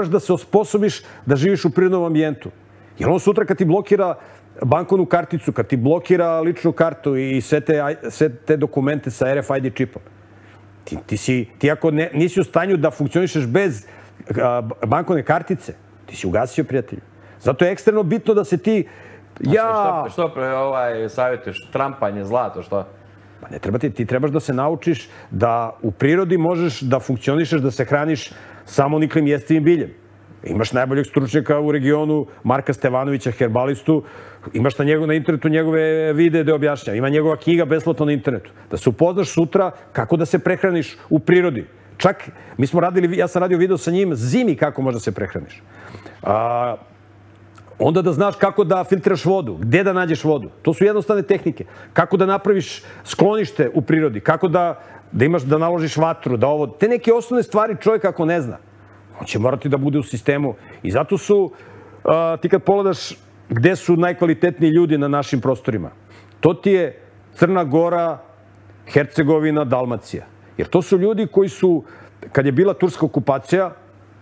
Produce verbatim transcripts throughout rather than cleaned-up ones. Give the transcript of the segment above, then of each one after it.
da se osposobiš da živiš u prirodnom ambijentu. Jer on sutra kad ti blokira bankovnu karticu, kad ti blokira ličnu kartu i sve te, sve te dokumente sa R F I D čipom, ti, ti, si, ti ako ne, nisi u stanju da funkcionišeš bez a, bankovne kartice, ti si ugasio, prijatelju. Zato je ekstremno bitno da se ti... Ja... Što, što pre, ovaj, savjetuješ? Trampanje, zlato, što? Pa ne treba ti, ti trebaš da se naučiš da u prirodi možeš da funkcionišeš, da se hraniš samo niklim jestivim biljem. Imaš najboljeg stručnjaka u regionu, Marka Stevanovića, herbalistu, imaš na, njegov, na internetu njegove videe da objašnjava. Ima njegova knjiga besplatno na internetu. Da se upoznaš sutra kako da se prehraniš u prirodi. Čak, mi smo radili, ja sam radio video sa njim zimi kako možda se prehraniš. A, onda da znaš kako da filtriraš vodu, gde da nađeš vodu. To su jednostavne tehnike. Kako da napraviš sklonište u prirodi, kako da, da imaš, da naložiš vatru, da ovo... Te neke osnovne stvari čovjek ako ne zna, on će morati da bude u sistemu. I zato su, a, ti kad pogledaš gde su najkvalitetniji ljudi na našim prostorima, to ti je Crna Gora, Hercegovina, Dalmacija. Jer to su ljudi koji su, kad je bila turska okupacija,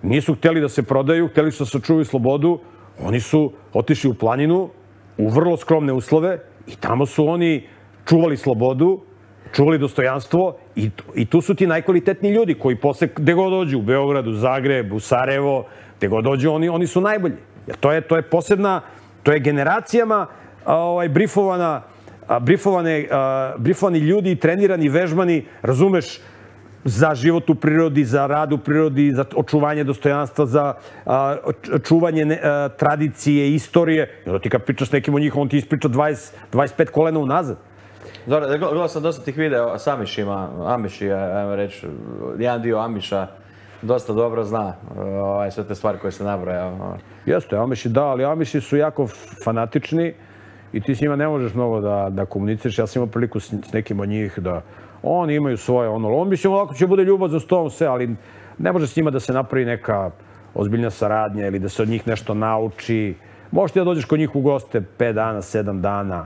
nisu htjeli da se prodaju, htjeli su da sačuvaju slobodu, oni su otišli u planinu, u vrlo skromne uslove i tamo su oni čuvali slobodu, čuvali dostojanstvo i, i tu su ti najkvalitetniji ljudi koji posle, gde god dođu, u Beogradu, Zagreb, u Sarajevo, gde god dođu, oni, oni su najbolji. Jer to je, to je posebna, to je generacijama a, ovaj, brifovana, a, brifovane, a, brifovani ljudi, trenirani, vežbani, razumeš, za život u prirodi, za rad u prirodi, za očuvanje dostojanstva, za a, čuvanje ne, a, tradicije, istorije. I onda ti kad pričaš s nekim o njih, on ti ispriča dvadeset, dvadeset pet kolena unazad. Dobro, gledao sam dosta tih videa s Amišima. Amiši, ajmo reći, jedan dio Amiša dosta dobro zna ovaj, sve te stvari koje se nabraja. Jeste, Amiši da, ali Amiši su jako fanatični i ti s njima ne možeš mnogo da, da komuniciraš. Ja sam imao priliku s, s nekim od njih da oni imaju svoje ono, on mislim ovako će bude ljubav za stolom sve, ali ne može s njima da se napravi neka ozbiljna saradnja ili da se od njih nešto nauči. Možeš ti da dođeš kod njih u goste pet dana, sedam dana,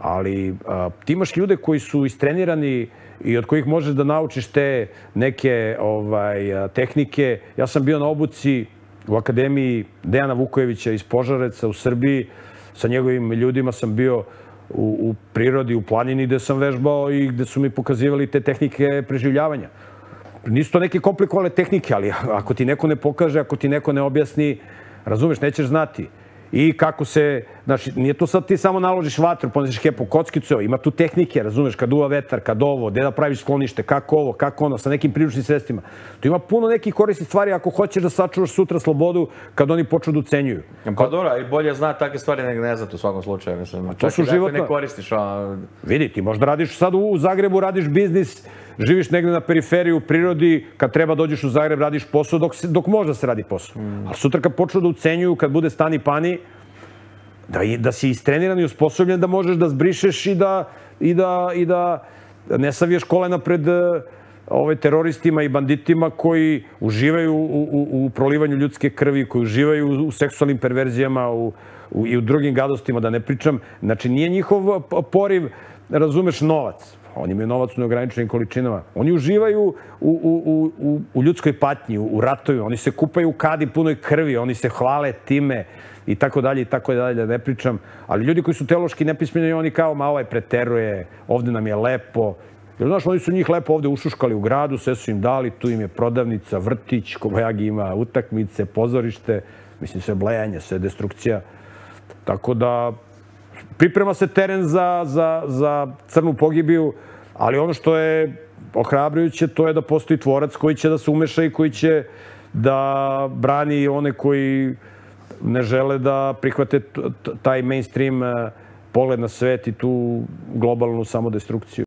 ali a, ti imaš ljude koji su istrenirani i od kojih možeš da naučiš te neke ovaj, a, tehnike. Ja sam bio na obuci u Akademiji Dejana Vukojevića iz Požareca u Srbiji. Sa njegovim ljudima sam bio U, u prirodi, u planini gde sam vežbao i gde su mi pokazivali te tehnike preživljavanja. Nisu to neke komplikovane tehnike, ali ako ti neko ne pokaže, ako ti neko ne objasni, razumeš, nećeš znati. I kako se, znači, nije to sad ti samo naložiš vatru, poneseš hepo kockicu, ima tu tehnike, razumeš, kad duva vetar, kad ovo, gde da praviš sklonište, kako ovo, kako ono, sa nekim priručnim sredstvima. Tu ima puno nekih korisnih stvari ako hoćeš da sačuvaš sutra slobodu kad oni počnu da ucenjuju. Pa dobro, i bolje zna takve stvari nego ne znati u svakom slučaju. Mislim. To su životna... ne koristiš. A... Vidi, ti možda radiš sad u Zagrebu, radiš biznis, živiš negde na periferiji u prirodi, kad treba dođeš u Zagreb, radiš posao dok, dok možda se radi posao. Mm. Ali sutra kad počnu da ucenjuju, kad bude stani pani, da, da si istreniran i usposobljen da možeš da zbrišeš i da, i da, i da ne saviješ kolena pred ove teroristima i banditima koji uživaju u, u, u prolivanju ljudske krvi, koji uživaju u, u seksualnim perverzijama u, u, i u drugim gadostima, da ne pričam. Znači, nije njihov poriv, razumeš, novac. Oni imaju novac u neograničenim količinama. Oni uživaju u, u, u, u ljudskoj patnji, u, u ratovima. Oni se kupaju u kadi punoj krvi, oni se hvale time i tako dalje i tako dalje, da ne pričam. Ali ljudi koji su teološki nepismeni, oni kao, ma ovaj preteruje, ovde nam je lepo. Jer znaš, oni su njih lepo ovde ušuškali u gradu, sve su im dali, tu im je prodavnica, vrtić, Kobajagi ima utakmice, pozorište, mislim, sve blejanje, sve destrukcija. Tako da priprema se teren za, za, za crnu pogibiju, ali ono što je ohrabrujuće, to je da postoji tvorac koji će da se umeša i koji će da brani one koji ne žele da prihvate taj mainstream pogled na svet i tu globalnu samodestrukciju.